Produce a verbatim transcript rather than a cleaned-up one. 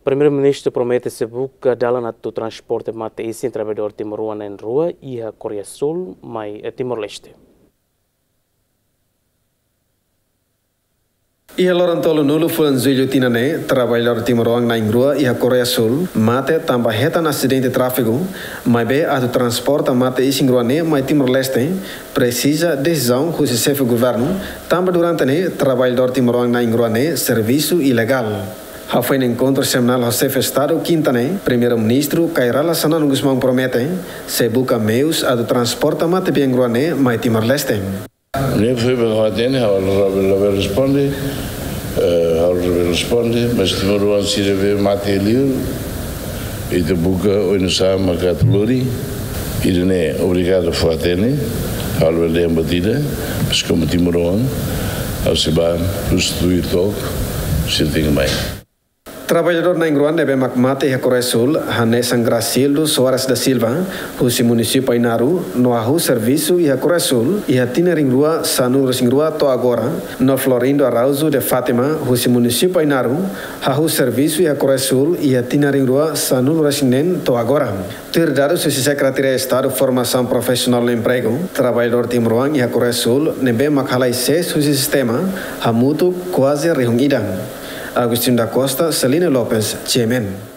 Primeiru-Ministru promete sei buka dalan atu transporta mate-isin traballadór timoroan na'in-rua iha Koreia Súl mai, eh, Timor-Leste. Iha loron tolunulu fulan Jullu tinan ne'e, traballadór timoroan na'in-rua iha Koreia Súl mate tanba hetan asidente tráfiku, maibé atu transporta mate-isin rua ne'e mai Timor-Leste, presiza desizaun husi xefe governu, tanba durante ne'e traballadór timoroan na'in-rua ne'e servisu ilegál. Hafoin enkontru semanál ho xefe Estadu kinta ne'e, Primeiru-Ministru Kay Rala Xanana Gusmão promete sei buka meius atu transporta matebian rua ne'e mai Timor-Leste. Ne'e foin ba hatene, ha'u la, la, la responde, eh, ha'u la responde, mas timoroan sira be mate liu, ita buka oinsá mak atu lori, ida-ne'e obrigadu fó hatene, ha'u la lembra tida, mas komu timoroan, ha'u sei ba, substitui tok, sei tenke mai. Traballadór na'in-rua ne'ebé mak mate iha Koreia Súl, hanesan Gracildo Soares da Silva, husi munisípiu Ainaro, no hahú servisu iha Koreia Súl, iha tinan rihun rua sanulu-resin-rua to'o agora, no Florindo Araújo de Fátima, husi munisípiu Ainaro, hahú servisu iha Koreia Súl, iha tinan rihun rua sanulu-resin-neen to'o agora. Tuir dadus husi Sekretaria Estadu Formasaun Profisionál no Empregu, traballadór timoroan iha Koreia Súl ne'ebé mak halai sees husi sistema hamutuk kuaze rihun ida. Agostinho da Costa, Celina Lopes, G M N.